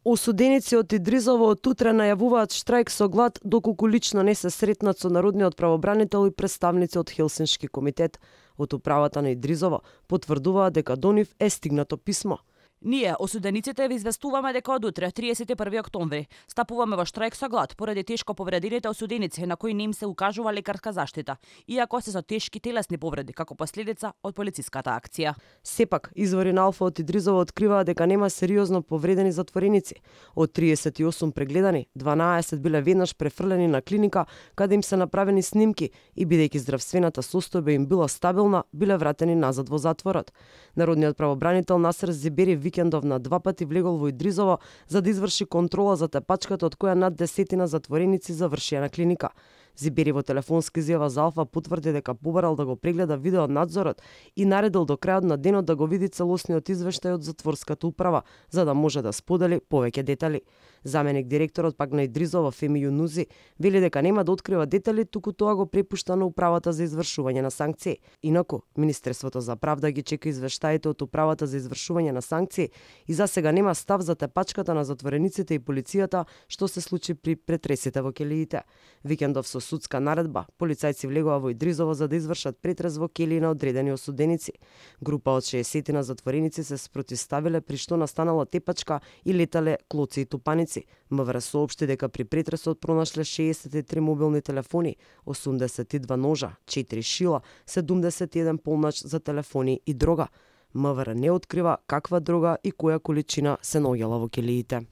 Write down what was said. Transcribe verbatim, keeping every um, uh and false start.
Осуденици од Идризово од утре најавуваат штрајк со глад доколку лично не се сретнат со народниот правобранител и представници од Хелсиншки комитет. Од управата на Идризово потврдуваат дека до нив е стигнато писмо. Ние, осудениците, ви известуваме дека од утре, триесет и први октомври, стапуваме во штрајк со глад поради тешко повредените осуденици на кои не им се укажува лекарска заштита, иако се со тешки телесни повреди како последица од полициската акција. Сепак, извори на Алфа од Идризово откриваат дека нема сериозно повредени затвореници. Од триесет и осум прегледани, дванаесет биле веднаш префрлени на клиника, каде им се направени снимки и бидејќи здравствената состојба им била стабилна, биле вратени назад во затворот. Народниот правобранител Насер Зибери викендов на два пати влегол во Идризово за да изврши контрола за тепачката од која над десетина затвореници завршија на клиника. Зибери во телефонска изјава за Алфа потврди дека побарал да го прегледа видео надзорот и наредил до крајот на денот да го види целосниот извештај од затворската управа, за да може да сподели повеќе детали. Заменик директорот пак на Идризово Феми Јунузи вели дека нема да открива детали, туку тоа го препушта на управата за извршување на санкции. Инаку, Министерството за правда ги чека извештаите од управата за извршување на санкции и за сега нема став за тепачката на затворениците и полицијата што се случи при претресите во келиите. Викендов со судска наредба, полицајци влегува во Идризово за да извршат претрес во келии на одредени осуденици. Група од шеесет на затвореници се спротивставиле при што настанала тепачка и летале клоци и тупаници. МВР соопшти дека при претресот пронашле шеесет и три мобилни телефони, осумдесет и два ножа, четири шила, седумдесет и еден полнач за телефони и дрога. МВР не открива каква дрога и која количина се наоѓала во келиите.